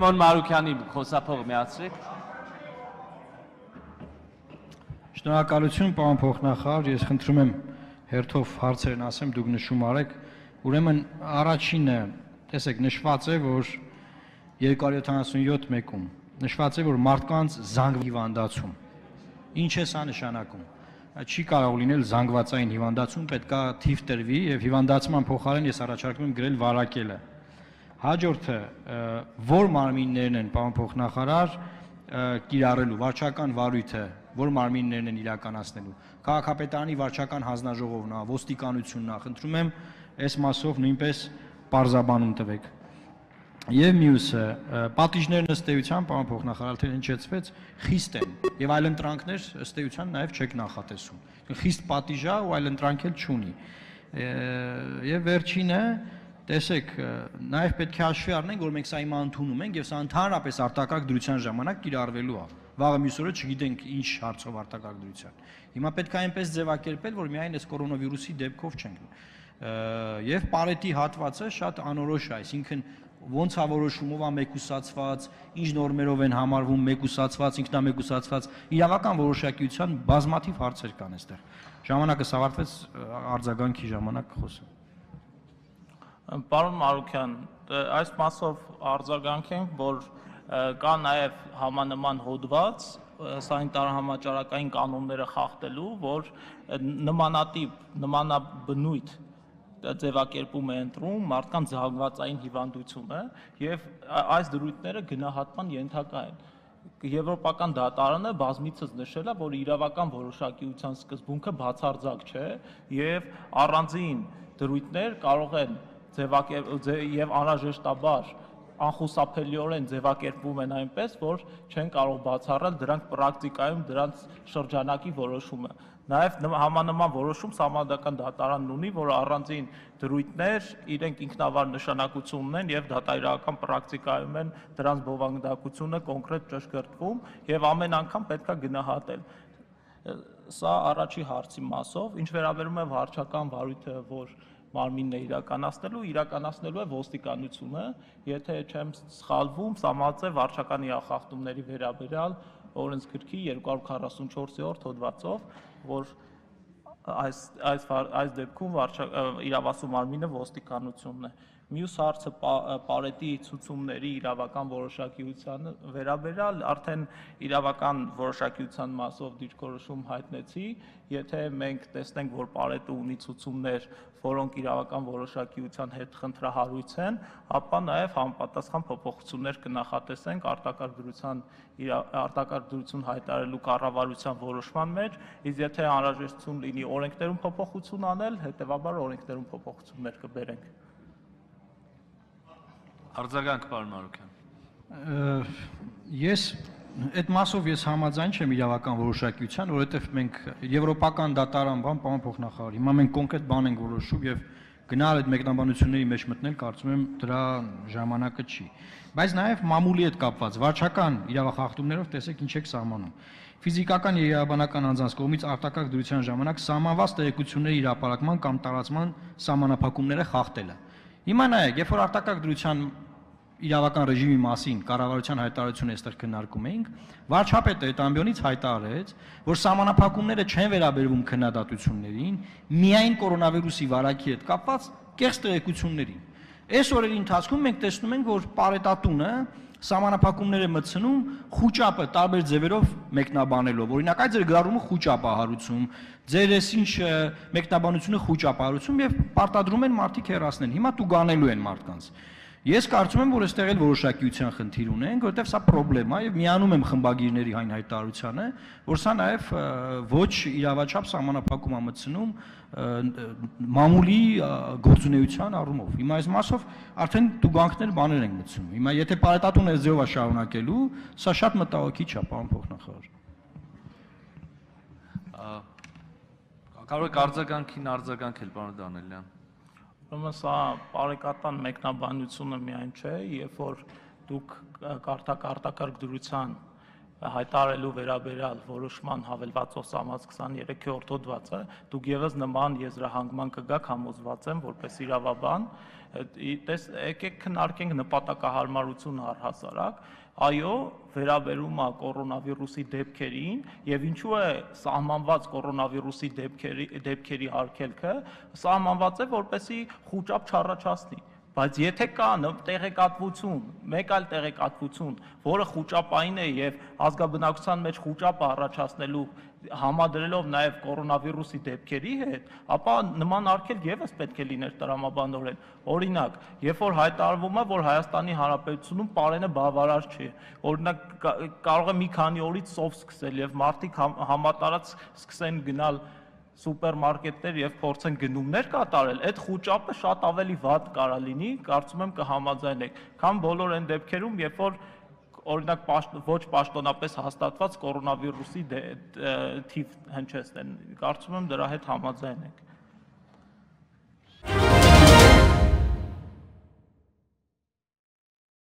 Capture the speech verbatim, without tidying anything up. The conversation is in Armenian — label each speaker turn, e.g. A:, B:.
A: Պարոն Մարուքյանի խոսափողը միացրեք։
B: Շնորհակալություն, պարոն փոխնախարար, ես խնդրում եմ հերթով հարցերն ասեմ, դուք նշում արեք, ուրեմն առաջինը, տեսեք, նշված է, որ երկու հարյուր յոթանասունյոթ մեկում նշված է, որ մարդկանց զանգվածային հիվանդացում։ Ինչ է սա նշանակում։ Չի կարող լինել զանգվածային հիվանդացում, պետք է թիվ տրվի եւ հիվանդացման փոխարեն ես առաջարկում եմ գրել վարակելը։ Հաջորդը, որ մարմիններն են, պարոն փոխնախարար, կիրառելու վարչական վարույթը, որ մարմիններն են իրականացնելու։ Քաղաքապետարանի վարչական հանձնաժողովն է, ոստիկանությունն է, խնդրում եմ այս մասով նույնպես պարզաբանում տվեք։ Եվ մյուսը, պատիժներն ըստ էության, պարոն փոխնախարար, թե հնչեցվեց, խիստ են եւ այլընտրանքներ ըստ էության նաեւ չեք նախատեսում։ Խիստ պատիժ է ու այլընտրանք էլ չունի։ Եվ վերջինը, տեսեք, նաեւ պետք է հաշվի առնենք, որ մենք սա հիմա ընդունում ենք եւ սա ընդհանրապես արտակարգ դրության ժամանակ կիրառվելու է։ Վաղը մյուս օրը չգիտենք ինչ հարցով արտակարգ դրության։ Հիմա պետք է այնպես ձևակերպել, որ միայն այս կորոնավիրուսի դեպքով չենք։ Եվ Պարետի հատվածը շատ անորոշ է, այսինքն ոնց է որոշումով է մեկուսացված, ինչ նորմերով են համարվում մեկուսացված, ինքնամեկուսացված, իրավական որոշակիության բազմաթիվ հարցեր կան այստեղ։ Ժամանակը ավարտվեց, արձագանքի ժամանակ խոսեմ։
C: Պարոն Մարուքյան, այս մասով արձագանքենք, որ կա նաև համանման հոդված սանիտար-համաճարակային կանոնները խախտելու, որ նմանատիպ, նմանաբնույթ ձևակերպում է ընտրում մարդկանց զանգվածային հիվանդությունը եւ այս դրույթները գնահատման ենթակա են։ Եվրոպական դատարանը բազմիցս նշել է, որ իրավական որոշակիության սկզբունքը բացարձակ չէ եւ առանձին դրույթներ կարող են ձևակերպել եւ անհրաժեշտաբար անխուսափելիորեն ձևակերպվում են այնպես, որ չեն կարող բացառել դրանք պրակտիկայում դրանց շրջանակի որոշումը։ Նաև համանման որոշում Սահմանադրական դատարանն ունի, որ առանձին դրույթներ իրենք ինքնավար նշանակություն ունեն եւ դատայրական պրակտիկայում են դրանց բովանդակությունը կոնկրետ ճշգրտվում եւ ամեն անգամ պետք է գնահատել։ Սա առաջի հարցի մասով, ինչ վերաբերում է վարչական վարույթը, որ մարմինն է իրականացնելու, իրականացնելու է ոստիկանությունը, եթե չեմ սխալվում, սահմանված է վարչական իրախախտումների վերաբերյալ օրենսգրքի երկու հարյուր քառասունչորսերորդ հոդվածով, որ այս այս այս դեպքում իրավասու մարմինը ոստիկանությունն է։ Մյուս հարցը Պարետի ցուցումների իրավական որոշակիության վերաբերյալ արդեն իրավական որոշակիության մասով դիրքորոշում հայտնեցի, եթե մենք տեսնենք, որ Պարետը ունի ցուցումներ, որոնք իրավական որոշակիության հետ խնդրահարույց են, ապա նաև համապատասխան փոփոխություններ կնախատեսենք արտակարգ դրության արտակարգ դրություն հայտարարելու կառավարության որոշման մեջ, իսկ եթե անհրաժեշտություն լինի օրենքներում փոփոխություն անել, հետևաբար օրենքներում փոփոխություններ կբերենք։
A: Արձագանք, պարոն Մարուքյան։
B: Ես այդ մասով ես համաձայն չեմ իրավական որոշակիության, որովհետև մենք եվրոպական դատարան բան, պարոն փոխնախարար, հիմա մենք կոնկրետ բան ենք որոշում եւ գնալ այդ մեկնաբանությունների մեջ մտնել, կարծում եմ դրա ժամանակը չի։ Բայց նաեւ մամուլի հետ կապված վարչական իրավախախտումներով տեսեք ինչ եք սահմանում։ Ֆիզիկական եւ իրավաբանական անձանց կողմից արտակարգ դրության ժամանակ սահմանված տեղեկությունների հրապարակման կամ տարածման սահմանափակումները խախտելը։ Հիմա նայեք, երբ որ արտակարգ դրության իրավական ռեժիմի մասին կառավարության հայտարարությունը այստեղ քննարկում էինք, վարչապետը այդ ամբիոնից հայտարարեց, որ սահմանափակումները չեն վերաբերվում քննադատություններին, միայն կորոնավիրուսի վարակի հետ կապված կեղծ տեղեկություններին։ Այս օրերի ընթացքում մենք տեսնում ենք, որ Պարետատունը սահմանափակումներ է մտցնում խուճապը տարբեր ձևերով մեկնաբանելով։ Օրինակ, այդ ձեր գրառումը խուճապ է հարուցում, ձեր այսինչ մեկնաբանությունը խուճապ է հարուցում եւ պարտադրում են մարդիկ հեռացնեն։ Հիմա տուգանելու են մարդկանց։ Ես կարծում եմ, որ այստեղ էլ որոշակիության խնդիր ունենք, որովհետև սա խնդրեմ է եւ միանում եմ խմբագիրների այն հայտարարությանը, որ սա նաեւ ոչ իրավաչափ սահմանափակում է մտցնում մամուլի գործունեության առումով։ Հիմա այս մասով արդեն տուգանքներ բաներ ենք մտցնում։ Հիմա եթե Պարետատունը այս ձևով է շարունակելու, սա շատ մտահոգիչ է, պարոն փոխնախարար։
A: Կարող եք արձագանքին արձագանքել, պարոն Դանելյան։
C: Ուրեմն սա բարեկատան մեկնաբանությունը միայն չէ, երբ որ դուք կարդաք արտակարգ դրության հայտարարելու վերաբերյալ որոշման հավելվածով սահմանած քսաներեքորդ հոդվածը, դուք եւս նման եզրահանգման կգաք, համոզված եմ, որպես իրավաբան, տես եկեք քննարկենք նպատակահարմարություն առհասարակ, այո, վերաբերում է կորոնավիրուսի դեպքերին եւ ինչու է սահմանված կորոնավիրուսի դեպքերի դեպքերի արգելքը, սահմանված է որպեսի խուճապ չառաջացնի։ Բայց եթե կա տեղեկատվություն, մեկ այլ տեղեկատվություն, որը խուճապային է եւ ազգաբնակության մեջ խուճապ առաջացնելու համադրելով նաեւ կորոնավիրուսի դեպքերի հետ, ապա նման արգելք եւս պետք է լիներ տրամաբանորեն։ Օրինակ, երբ որ հայտարարվում է, որ Հայաստանի Հանրապետությունում պարենը բավարար չի, օրինակ կարող է մի քանի օրից սով սկսել եւ մարդիկ համատարած սկսեն գնալ սուպերմարկետներ եւ փորձեն գնումներ կատարել, այդ խուճապը շատ ավելի վատ կարա լինի, կարծում եմ կհամաձայնեք, քան բոլոր այն դեպքերում, երբ որ օրինակ ոչ պաշտոնապես հաստատված կորոնավիրուսի թիվ հնչեցնեն, կարծում եմ դրա հետ համաձայնեք։